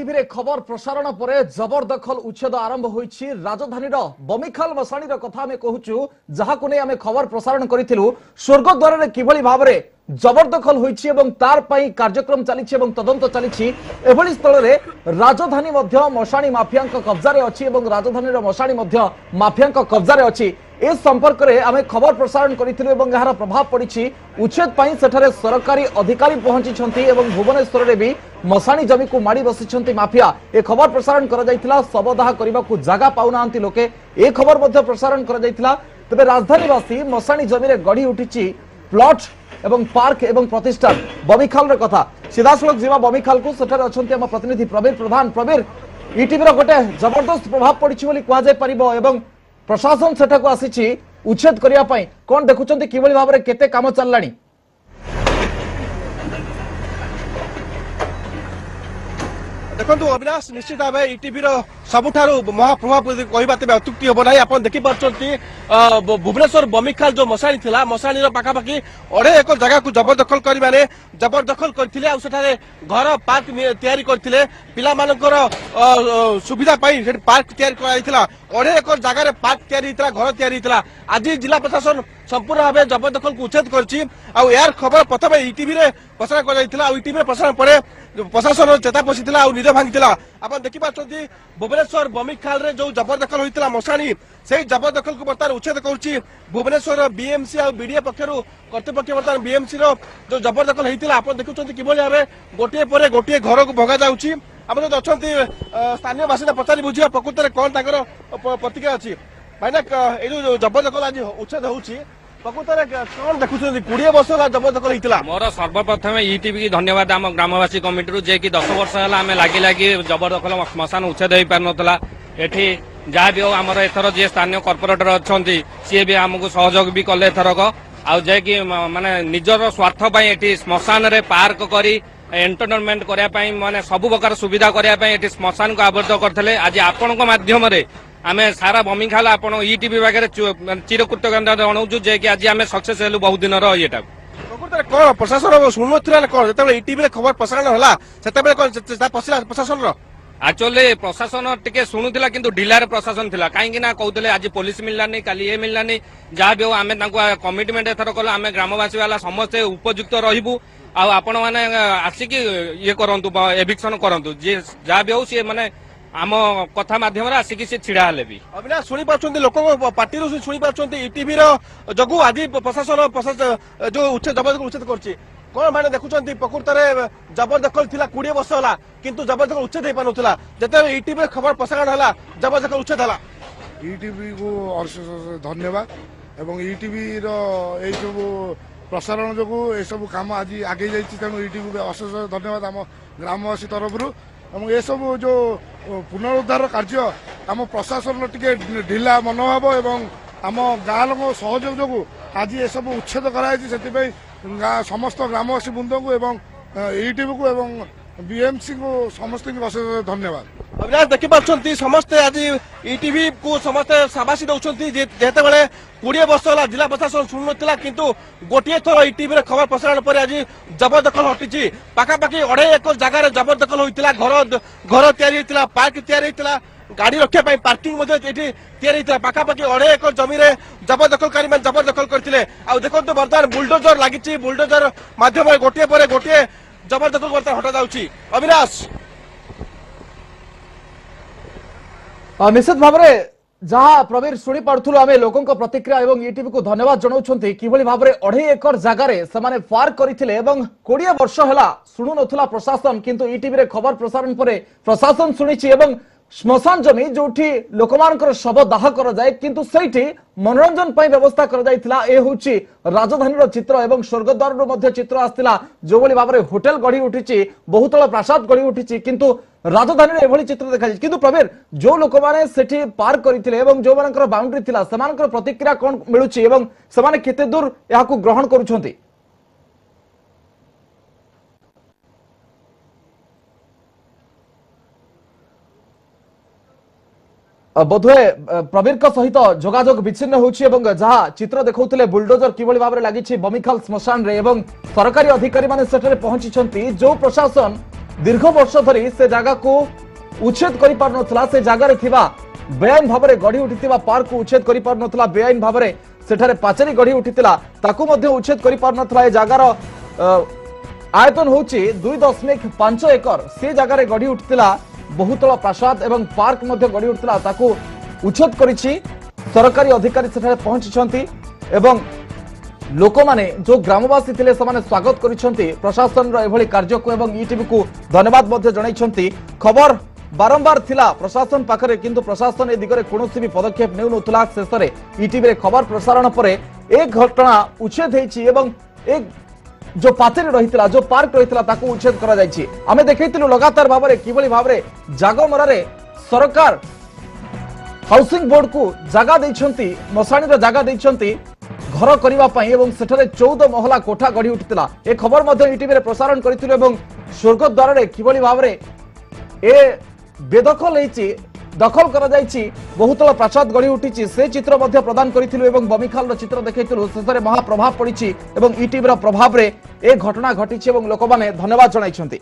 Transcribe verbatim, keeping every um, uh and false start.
ଟିଭିରେ ଖବର ପ୍ରସାରଣ ପରେ ଜବରଦଖଲ ଉଚ୍ଛେଦ ଆରମ୍ଭ ହୋଇଛି। ରାଜଧାନୀର ବମିଖାଲ ମଶାଣୀର କଥା ଆମେ କହୁଛୁ, ଯାହାକୁ ନେଇ ଆମେ ଖବର ପ୍ରସାରଣ କରିଥିଲୁ। ସ୍ୱର୍ଗଦ୍ୱାରରେ କିଭଳି ଭାବରେ ଜବରଦଖଲ ହୋଇଛି ଏବଂ ତାର ପାଇଁ କାର୍ଯ୍ୟକ୍ରମ ଚାଲିଛି ଏବଂ ତଦନ୍ତ ଚାଲିଛି। ଏଭଳି ସ୍ଥଳରେ ରାଜଧାନୀ ମଧ୍ୟ ମଶାଣୀ ମାଫିଆଙ୍କ କବ୍ଜାରେ ଅଛି ଏବଂ ରାଜଧାନୀର ମଶାଣୀ ମଧ୍ୟ ମାଫିଆଙ୍କ କବ୍ଜାରେ ଅଛି। ଏ ସମ୍ପର୍କରେ ଆମେ ଖବର ପ୍ରସାରଣ କରିଥିଲୁ ଏବଂ ଏହାର ପ୍ରଭାବ ପଡ଼ିଛି। ଉଚ୍ଛେଦ ପାଇଁ ସେଠାରେ ସରକାରୀ ଅଧିକାରୀ ପହଞ୍ଚିଛନ୍ତି ଏବଂ ଭୁବନେଶ୍ୱରରେ ବି ମଶାଣୀ ଜମିକୁ ମାଡ଼ି ବସିଛନ୍ତି ମାଫିଆ। ଏ ଖବର ପ୍ରସାରଣ କରାଯାଇଥିଲା। ଶବଦାହ କରିବାକୁ ଜାଗା ପାଉନାହାନ୍ତି ଲୋକେ, ଏ ଖବର ମଧ୍ୟ ପ୍ରସାରଣ କରାଯାଇଥିଲା। ତେବେ ରାଜଧାନୀବାସୀ ମଶାଣୀ ଜମିରେ ଗଢ଼ି ଉଠିଛି ପ୍ଲଟ ଏବଂ ପାର୍କ ଏବଂ ପ୍ରତିଷ୍ଠାନ। ବମିଖାଲର କଥା ସିଧାସଳଖ ଯିବା ବମିଖାଲକୁ, ସେଠାରେ ଅଛନ୍ତି ଆମ ପ୍ରତିନିଧି ପ୍ରବୀର ପ୍ରଧାନ। ପ୍ରବୀର, ଇଟିଭିର ଗୋଟେ ଜବରଦସ୍ତ ପ୍ରଭାବ ପଡ଼ିଛି ବୋଲି କୁହାଯାଇ ପାରିବ ଏବଂ ପ୍ରଶାସନ ସେଠାକୁ ଆସିଛି ଉଚ୍ଛେଦ କରିବା ପାଇଁ। କଣ ଦେଖୁଛନ୍ତି, କିଭଳି ଭାବରେ କେତେ କାମ ଚାଲିଲାଣି? ଦେଖନ୍ତୁ ଅବିନାଶ, ନିଶ୍ଚିତ ଭାବେ ଇଟିଭିର ସବୁଠାରୁ ମହାପ୍ରଭାବ କହିବା ତେବେ ଅତ୍ୟୁକ୍ତି ହେବ ନାହିଁ। ଆପଣ ଦେଖିପାରୁଛନ୍ତି ଭୁବନେଶ୍ୱର ବମିଖାଲ ଯୋଉ ମଶାଣୀ ଥିଲା, ମଶାଣୀର ପାଖାପାଖି ଅଢେଇ ଏକର ଜାଗାକୁ ଜବରଦଖଲକାରୀ ମାନେ ଜବରଦଖଲ କରିଥିଲେ ଆଉ ସେଠାରେ ଘର ପାର୍କ ତିଆରି କରିଥିଲେ। ପିଲାମାନଙ୍କର ସୁବିଧା ପାଇଁ ସେଠି ପାର୍କ ତିଆରି କରାଯାଇଥିଲା। ଅଢେଇ ଏକର ଜାଗାରେ ପାର୍କ ତିଆରି ହେଇଥିଲା, ଘର ତିଆରି ହେଇଥିଲା। ଆଜି ଜିଲ୍ଲା ପ୍ରଶାସନ ସମ୍ପୂର୍ଣ୍ଣ ଭାବେ ଜବରଦଖଲକୁ ଉଚ୍ଛେଦ କରିଛି ଆଉ ଏହାର ଖବର ପ୍ରଥମେ ଇଟିଭିରେ ପ୍ରସାରଣ କରାଯାଇଥିଲା ଆଉ ଇଟିଭିରେ ପ୍ରସାରଣ ପରେ ପ୍ରଶାସନର ଚେତା ପଶିଥିଲା ଆଉ ନିଦ ଭାଙ୍ଗିଥିଲା। ଆପଣ ଦେଖିପାରୁଛନ୍ତି ଭୁବନେଶ୍ୱର ବମିଖାଲରେ ଯୋଉ ଜବରଦଖଲ ହୋଇଥିଲା ମଶାଣୀ, ସେଇ ଜବରଦଖଲକୁ ବର୍ତ୍ତମାନ ଉଚ୍ଛେଦ କରୁଛି ଭୁବନେଶ୍ୱର ବିଏମସି ଆଉ ବିଡିଏ ପକ୍ଷରୁ କର୍ତ୍ତୃପକ୍ଷ। ବର୍ତ୍ତମାନ ବିଏମସି ର ଯୋଉ ଜବରଦଖଲ ହେଇଥିଲା, ଆପଣ ଦେଖୁଛନ୍ତି କିଭଳି ଭାବେ ଗୋଟିଏ ପରେ ଗୋଟିଏ ଘରକୁ ଭଙ୍ଗା ଯାଉଛି। ଆମ ସହିତ ଅଛନ୍ତି ସ୍ଥାନୀୟ ବାସିନ୍ଦା, ପଚାରି ବୁଝିବା ପ୍ରକୃତରେ କଣ ତାଙ୍କର ପ୍ରତିକ୍ରିୟା ଅଛି। ଭାଇନା, ଏଇ ଯୋଉ ଜବରଦଖଲ ଆଜି ଉଚ୍ଛେଦ ହଉଛି, ପ୍ରକୃତରେ କଣ ଦେଖୁଛନ୍ତି? କୋଡିଏ ବର୍ଷ ହେଲା ଜବରଦଖଲ ହେଇଥିଲା। ମୋର ସର୍ବପ୍ରଥମେ ଇଟିଭି କି ଧନ୍ୟବାଦ ଆମ ଗ୍ରାମବାସୀ କମିଟିରୁ, ଯେ କି ଦଶ ବର୍ଷ ହେଲା ଆମେ ଲାଗି ଲାଗି ଜବରଦଖଲ ଶ୍ମଶାନ ଉଚ୍ଛେଦ ହେଇପାରୁନଥିଲା ଏଠି। ଯାହା ବି ହଉ, ଆମର ଏଥର ଯିଏ ସ୍ଥାନୀୟ କର୍ପୋରେଟର ଅଛନ୍ତି, ସିଏ ବି ଆମକୁ ସହଯୋଗ ବି କଲେ ଏଥରକ। ଆଉ ଯାହାକି ମାନେ ନିଜର ସ୍ୱାର୍ଥ ପାଇଁ ଏଠି ଶ୍ମଶାନରେ ପାର୍କ କରି ଏଣ୍ଟରଟେନମେଣ୍ଟ କରିବା ପାଇଁ, ମାନେ ସବୁ ପ୍ରକାର ସୁବିଧା କରିବା ପାଇଁ ଏଠି ଶ୍ମଶାନକୁ ଆବଦ୍ଧ କରିଥିଲେ। ଆଜି ଆପଣଙ୍କ ମାଧ୍ୟମରେ ଆମେ ସାରା ବମିଖାଲ ଆପଣ ଇଟିଭି ପାଖରେ ଚିରକୃତଜ୍ଞତା ଜଣାଉଛୁ ଯେ କି ଆଜି ଆମେ ସକ୍ସେସ ହେଲୁ ବହୁ ଦିନର ଇଏଟାକୁ। ପ୍ରକୃତରେ କଣ ପ୍ରଶାସନ ଶୁଣୁନଥିଲା ନା କଣ? ଯେତେବେଳେ ଇଟିଭିରେ ଖବର ପ୍ରସାରଣ ହେଲା, ସେତେବେଳେ କଣ ପଶିଲା ପ୍ରଶାସନର? ଆକ୍ଚୁଆଲି ପ୍ରଶାସନ ଟିକେ ଶୁଣୁଥିଲା, କିନ୍ତୁ ଢିଲାରେ ପ୍ରଶାସନ ଥିଲା। କାହିଁକି ନା କହୁଥିଲେ ଆଜି ପୋଲିସ ମିଳିଲାନି, କାଲି ଇଏ ମିଳିଲାନି। ଯାହା ବି ହଉ, ଆମେ ତାଙ୍କୁ କମିଟମେଣ୍ଟ ଏଥର କଲୁ, ଆମେ ଗ୍ରାମବାସୀ ବାଲା ସମସ୍ତେ ଉପଯୁକ୍ତ ରହିବୁ ଆଉ ଆପଣମାନେ ଆସିକି ଇଏ କରନ୍ତୁ, ଏଭିକ୍ସନ କରନ୍ତୁ। ଯିଏ ଯାହା ବି ହଉ, ସିଏ ମାନେ ଆମ କଥା ମାଧ୍ୟମରେ ଆସିକି ସେ ଛିଡା ହେଲେ ବି। ଅବିନାଶ, ଶୁଣିପାରୁଛନ୍ତି, ଲୋକଙ୍କ ପାଟିରୁ ଶୁଣିପାରୁଛନ୍ତି, ଇଟିଭିର ଯୋଗୁ ଆଜି ପ୍ରଶାସନ ଯୋଉ ଉଚ୍ଛେଦ ଜବରଦଖଲ ଉଚ୍ଛେଦ କରୁଛି। କଣ ମାନେ ଦେଖୁଛନ୍ତି? ପ୍ରକୃତରେ ଜବରଦଖଲ ଥିଲା କୋଡିଏ ବର୍ଷ ହେଲା, କିନ୍ତୁ ଜବରଦଖଲ ଉଚ୍ଛେଦ ହେଇପାରୁନଥିଲା। ଯେତେବେଳେ ଇଟିଭିରେ ଖବର ପ୍ରସାରଣ ହେଲା, ଜବରଦଖଲ ଉଚ୍ଛେଦ ହେଲା। ଇଟିଭିକୁ ଅଶେଷ ଧନ୍ୟବାଦ ଏବଂ ଇଟିଭିର ଏଇସବୁ ପ୍ରସାରଣ ଯୋଗୁଁ ଏସବୁ କାମ ଆଜି ଆଗେଇ ଯାଇଛି। ତେଣୁ ଇଟିଭିକୁ ଅଶେଷ ଧନ୍ୟବାଦ ଆମ ଗ୍ରାମବାସୀ ତରଫରୁ। ଏବଂ ଏସବୁ ଯେଉଁ ପୁନରୁଦ୍ଧାର କାର୍ଯ୍ୟ, ଆମ ପ୍ରଶାସନର ଟିକେ ଢିଲା ମନୋଭାବ ଏବଂ ଆମ ଗାଁ ଲୋକଙ୍କ ସହଯୋଗ ଯୋଗୁଁ ଆଜି ଏସବୁ ଉଚ୍ଛେଦ କରାଯାଇଛି। ସେଥିପାଇଁ ଗାଁ ସମସ୍ତ ଗ୍ରାମବାସୀ ବୃନ୍ଦଙ୍କୁ ଏବଂ ଇଟିଭିକୁ ଏବଂ ବିଏମସିକୁ ସମସ୍ତଙ୍କୁ ଅଶେଷ ଧନ୍ୟବାଦ। ଅବିନାଶ, ଦେଖିପାରୁଛନ୍ତି ସମସ୍ତେ ଆଜି ଇଟିଭି କୁ ସମସ୍ତେ ସାବାସୀ ଦଉଛନ୍ତି। ଯେତେବେଳେ କୋଡିଏ ବର୍ଷ ହେଲା ଜିଲ୍ଲା ପ୍ରଶାସନ ଶୁଣୁନଥିଲା, କିନ୍ତୁ ଗୋଟିଏ ଥର ଇଟିଭିରେ ଖବର ପ୍ରସାରଣ ପରେ ଆଜି ଜବରଦଖଲ ହଟିଛି। ପାଖାପାଖି ଅଢେଇ ଏକର ଜାଗାରେ ଜବରଦଖଲ ହୋଇଥିଲା, ଘର ଘର ତିଆରି ହେଇଥିଲା, ପାର୍କ ତିଆରି ହେଇଥିଲା, ଗାଡି ରଖିବା ପାଇଁ ପାର୍କିଂ ମଧ୍ୟ ଏଠି ତିଆରି ହେଇଥିଲା। ପାଖାପାଖି ଅଢେଇ ଏକର ଜମିରେ ଜବରଦଖଲକାରୀ ମାନେ ଜବରଦଖଲ କରିଥିଲେ। ଆଉ ଦେଖନ୍ତୁ ବର୍ତ୍ତମାନ ବୁଲଡୋଜର ଲାଗିଛି, ବୁଲଡୋଜର ମାଧ୍ୟମରେ ଗୋଟିଏ ପରେ ଗୋଟିଏ ଜବରଦଖଲ ବର୍ତ୍ତମାନ ହଟାଯାଉଛି। ଅବିନାଶ, ନିଶ୍ଚିତ ଭାବରେ ଯାହା ପ୍ରବୀର ଶୁଣି ପାରୁଥିଲୁ ଆମେ ଲୋକଙ୍କ ପ୍ରତିକ୍ରିୟା ଏବଂ ଇଟିଭିକୁ ଧନ୍ୟବାଦ ଜଣାଉଛନ୍ତି। କିଭଳି ଭାବରେ ଅଢେଇ ଏକର ଜାଗାରେ ସେମାନେ ପାର୍କ କରିଥିଲେ ଏବଂ କୋଡ଼ିଏ ବର୍ଷ ହେଲା ଶୁଣୁନଥିଲା ପ୍ରଶାସନ, କିନ୍ତୁ ଇଟିଭିରେ ଖବର ପ୍ରସାରଣ ପରେ ପ୍ରଶାସନ ଶୁଣିଛି। ଏବଂ ଶ୍ମଶାନ ଜମି ଯୋଉଠି ଲୋକମାନଙ୍କର ଶବ ଦାହ କରାଯାଏ, କିନ୍ତୁ ସେଇଠି ମନୋରଞ୍ଜନ ପାଇଁ ବ୍ୟବସ୍ଥା କରାଯାଇଥିଲା। ଏ ହେଉଛି ରାଜଧାନୀର ଚିତ୍ର ଏବଂ ସ୍ୱର୍ଗଦ୍ୱାରରୁ ମଧ୍ୟ ଚିତ୍ର ଆସିଥିଲା, ଯେଉଁଭଳି ଭାବରେ ହୋଟେଲ ଗଢି ଉଠିଛି, ବହୁତଳ ପ୍ରାସାଦ ଗଢି ଉଠିଛି, କିନ୍ତୁ ରାଜଧାନୀରେ ଏଭଳି ଚିତ୍ର ଦେଖାଯାଇଛି। କିନ୍ତୁ ପ୍ରବୀର, ଯୋଉ ଲୋକମାନେ ସେଠି ପାର୍କ କରିଥିଲେ ଏବଂ ଯୋଉମାନଙ୍କର ବାଉଣ୍ଡ୍ରି ଥିଲା, ସେମାନଙ୍କର ପ୍ରତିକ୍ରିୟା କଣ ମିଳୁଛି ଏବଂ ସେମାନେ କେତେ ଦୂର ଏହାକୁ ଗ୍ରହଣ କରୁଛନ୍ତି? ବୋଧହୁଏ ପ୍ରବୀରଙ୍କ ସହିତ ଯୋଗାଯୋଗ ବିଚ୍ଛିନ୍ନ ହେଉଛି। ଏବଂ ଯାହା ଚିତ୍ର ଦେଖାଉଥିଲେ, ବୁଲଡୋଜର କିଭଳି ଭାବରେ ଲାଗିଛି ବମିଖାଲ ଶ୍ମଶାନରେ ଏବଂ ସରକାରୀ ଅଧିକାରୀମାନେ ସେଠାରେ ପହଞ୍ଚିଛନ୍ତି। ଯୋଉ ପ୍ରଶାସନ ଦୀର୍ଘ ବର୍ଷ ଧରି ସେ ଜାଗାକୁ ଉଚ୍ଛେଦ କରିପାରୁନଥିଲା। ସେ ଜାଗାରେ ଥିବା ବେଆଇନ ଭାବରେ ଗଢ଼ି ଉଠିଥିବା ପାର୍କକୁ ଉଚ୍ଛେଦ କରିପାରୁନଥିଲା, ବେଆଇନ ଭାବରେ ସେଠାରେ ପାଚେରୀ ଗଢ଼ି ଉଠିଥିଲା ତାକୁ ମଧ୍ୟ ଉଚ୍ଛେଦ କରିପାରୁନଥିଲା। ଏ ଜାଗାର ଆୟତନ ହେଉଛି ଦୁଇ ଦଶମିକ ପାଞ୍ଚ ଏକର। ସେ ଜାଗାରେ ଗଢ଼ି ଉଠିଥିଲା ବହୁତଳ ପ୍ରାସାଦ ଏବଂ ପାର୍କ ମଧ୍ୟ ଗଢ଼ି ଉଠିଥିଲା, ତାକୁ ଉଚ୍ଛେଦ କରିଛି। ସରକାରୀ ଅଧିକାରୀ ସେଠାରେ ପହଞ୍ଚିଛନ୍ତି ଏବଂ ଲୋକମାନେ ଯେଉଁ ଗ୍ରାମବାସୀ ଥିଲେ ସେମାନେ ସ୍ୱାଗତ କରିଛନ୍ତି ପ୍ରଶାସନର ଏଭଳି କାର୍ଯ୍ୟକୁ ଏବଂ ଇଟିଭିକୁ ଧନ୍ୟବାଦ ମଧ୍ୟ ଜଣାଇଛନ୍ତି। ଖବର ବାରମ୍ବାର ଥିଲା ପ୍ରଶାସନ ପାଖରେ, କିନ୍ତୁ ପ୍ରଶାସନ ଏ ଦିଗରେ କୌଣସି ବି ପଦକ୍ଷେପ ନେଉନଥିଲା। ଶେଷରେ ଇଟିଭିରେ ଖବର ପ୍ରସାରଣ ପରେ ଏ ଘଟଣା ଉଚ୍ଛେଦ ହେଇଛି ଏବଂ ଏ ଯେଉଁ ପାଚେରୀ ରହିଥିଲା, ଯେଉଁ ପାର୍କ ରହିଥିଲା ତାକୁ ଉଚ୍ଛେଦ କରାଯାଇଛି। ଆମେ ଦେଖେଇଥିଲୁ ଲଗାତାର ଭାବରେ କିଭଳି ଭାବରେ ଜାଗମରାରେ ସରକାର ହାଉସିଂ ବୋର୍ଡକୁ ଜାଗା ଦେଇଛନ୍ତି, ମଶାଣୀର ଜାଗା ଦେଇଛନ୍ତି ଘର କରିବା ପାଇଁ ଏବଂ ସେଠାରେ ଚଉଦ ମହଲା କୋଠା ଗଢ଼ି ଉଠିଥିଲା। ଏ ଖବର ମଧ୍ୟ ଇଟିଭିରେ ପ୍ରସାରଣ କରିଥିଲୁ ଏବଂ ସ୍ୱର୍ଗଦ୍ୱାରରେ କିଭଳି ଭାବରେ ଏ ବେଦଖଲ ହେଇଛି, ଦଖଲ କରାଯାଇଛି, ବହୁତଳ ପ୍ରାସାଦ ଗଢ଼ି ଉଠିଛି ସେ ଚିତ୍ର ମଧ୍ୟ ପ୍ରଦାନ କରିଥିଲୁ ଏବଂ ବମିଖାଲର ଚିତ୍ର ଦେଖାଇଥିଲୁ। ଶେଷରେ ମହାପ୍ରଭାବ ପଡ଼ିଛି ଏବଂ ଇଟିଭିର ପ୍ରଭାବରେ ଏ ଘଟଣା ଘଟିଛି ଏବଂ ଲୋକମାନେ ଧନ୍ୟବାଦ ଜଣାଇଛନ୍ତି।